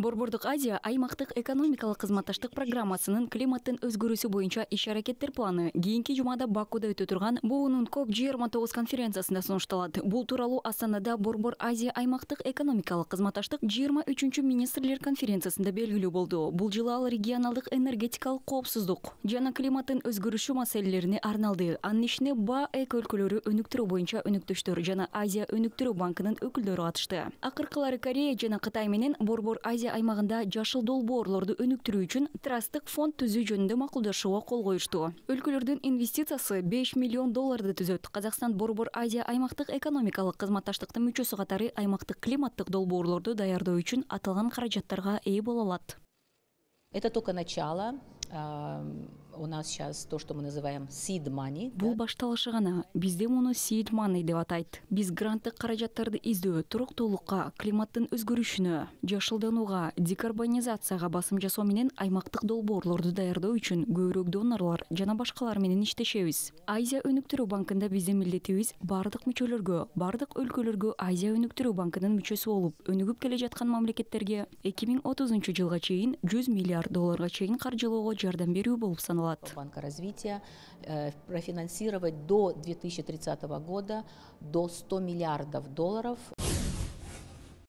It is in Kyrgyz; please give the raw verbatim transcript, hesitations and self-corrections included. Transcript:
Борбордук Азия аймактык экономикалык кызматташтык программасынын климаттын өзгөрүүсү боюнча иш-аракеттер планы кийинки жумада Бакууда өтө турган буунун коп жыйырма тогуз конференциясында сунушталат. Бул тууралуу Астанада Борбор Азия аймактык экономикалык кызматташтык жыйырма үчүнчү министрлер конференциясында белгилүү болду. Бул жылы ал регионалдык энергетикалык коопсуздук жана климаттын өзгөрүшү маселелерине арналды. Анын ишине Ба эк өлкөлөрү өнүктүрүү боюнча өнөктөштөр жана Азия өнүктүрүү банкынын өкүлдөрү катышты. Акыркылары Корея жана Кытай менен Борбор Азия аймагында жашыл долбоорлорду өнүктүрүү үчүн трасттык фонд түзүү жөнүндө макулдашууга кол коюшту. Өлкөлөрдүн инвестициясы беш миллион долларды түзөт. Казакстан Борбор Азия аймактык экономикалык кызматташтыктын мүчөсү катары аймактык климаттык долбоорлорду даярдоо үчүн аталган каражаттарга ээ боло алат. Это только начало. У нас сейчас то, что мы называем seed money. Бул башталышы гана. Бизде муну seed money деп атайт. Биз гранттык каражаттарды издөө, туруктуулукка, климаттын өзгөрүшүнө, жашылданууга, декарбонизацияга басым жасоо менен аймактык долбоорлорду даярдоо үчүн көбүрөөк донорлор жана башкалар менен иштешебиз. Азия өнүктүрүү банкында биздин милдетибиз бардык мүчөлөргө, бардык өлкөлөргө Азия өнүктүрүү банкынын мүчөсү болуп, өнүгүп келе жаткан мамлекеттерге эки миң отузунчу жылга чейин жүз миллиард долларга чейин каржылоого жардам берүү болуп саналат. Банка развития э, профинансировать до две тысячи тридцатого года до ста миллиардов долларов.